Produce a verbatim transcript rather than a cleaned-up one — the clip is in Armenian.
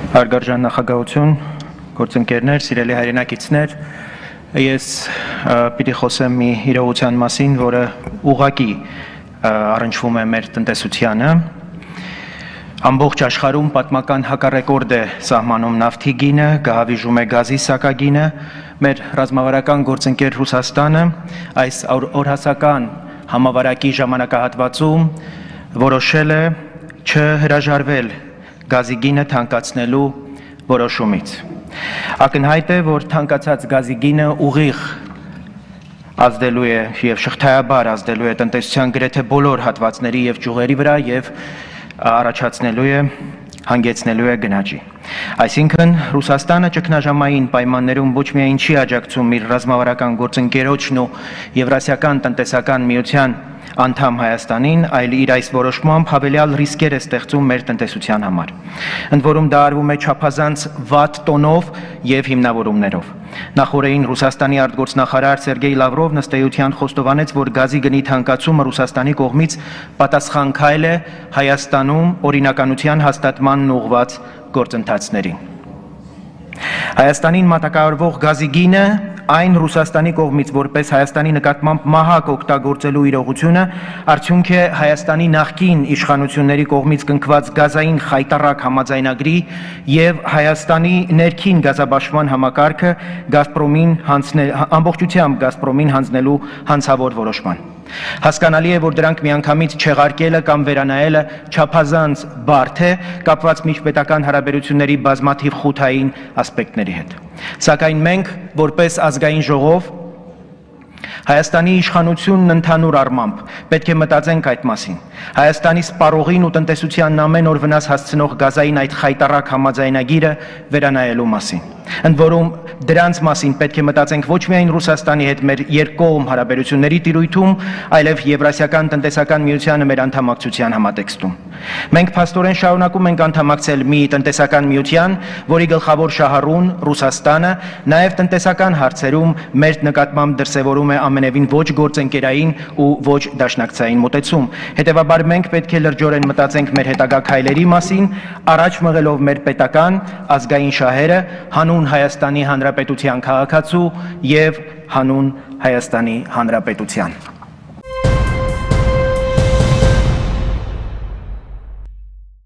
Հարգարժան նախագահություն, գործընկերներ, սիրելի հայրենակիցներ, ես պիտի խոսեմ մի իրողության մասին, որը ուղղակի առնչվում է մեր տնտեսությանը։ Ամբողջ աշխարհում պատմական հակառեկորդ է սահմանում նավթի գինը, գահավիժում է գազի սակագինը, մեր ռազմավարական գործընկեր Ռուսաստանը այս օրհասական համավարակի ժամանակահատվածում որոշել է չհրաժարվել գազի գինը թանկացնելու որոշումից։ Ակնհայտ է, որ թանկացած գազի գինը ուղիղ ազդելու է եւ շղթայաբար ազդելու է տնտեսության գրեթե բոլոր հատվածների եւ ճյուղերի վրա եւ առաջացնելու է հանգեցնելու է գնաճի։ Այսինքն Ռուսաստանը ճգնաժամային պայմաններում ոչ միայն չի աջակցում իր ռազմավարական գործընկերոջն ու Եվրասիական տնտեսական միության անդամ Հայաստանին, այլ իր այս որոշմամբ հավելյալ ռիսկեր է ստեղծում մեր տնտեսության համար։ Ընդ որում դա արվում է չափազանց վատ տոնով եւ հիմնավորումներով։ Նախորդին Ռուսաստանի արտգործնախարար Սերգեյ Լավրովն ըստ էության խոստովանեց, որ գազի գնի թանկացումը Ռուսաստանի կողմից պատասխան քայլ է Հայաստանում օրինականության հաստատմանն ուղղված գործընթացներին։ Հայաստանին մատակարարվող գազի գինը այն Ռուսաստանի կողմից որպես Հայաստանի նկատմամբ մահակ օգտագործելու իրողությունը արդյունք է Հայաստանի նախկին իշխանությունների կողմից կնքված գազային խայտառակ համաձայնագրի եւ Հայաստանի ներքին գազաբաշխման համակարգը Գազպրոմին հանձնել ամբողջությամբ Գազպրոմին հանձնելու հանցավոր որոշման։ Հասկանալի է, որ դրանք միանգամից չեղարկելը կամ վերանայելը չափազանց բարդ է կապված միջպետական հարաբերությունների բազմաթիվ խութային ասպեկտների հետ։ Սակայն մենք, որպես ազգային ժողով, Հայաստանի իշխանությունն ընդհանուր առմամբ պետք է մտածենք այդ մասին։ Հայաստանի սպառողին ու տնտեսությանն ամեն օր վնաս հասցնող գազային այդ խայտառակ համաձայնագիրը վերանայելու մասին։ Ընդ որում դրանց մասին պետք է մտածենք ոչ միայն Ռուսաստանի հետ մեր երկկողմ հարաբերությունների տիրույթում, այլև Եվրասիական տնտեսական միությանը մեր անդամակցության համատեքստում։ Մենք փաստորեն շարունակում ենք անդամակցել մի տնտեսական միության, որի գլխավոր շահառուն Ռուսաստանը նաև տնտեսական հարցերում մեր նկատմամբ դրսևորում է ամենևին ոչ գործընկերային ու ոչ դաշնակցային մոտեցում։ Հետևաբար մենք պետք է լրջորեն մտածենք մեր հետագա քայլերի մասին, առաջ մղելով մեր պետական ազգային շահերը հանուն Հայաստանի Հանրապետության քաղաքացու եւ հանուն Հայաստանի Հանրապետության։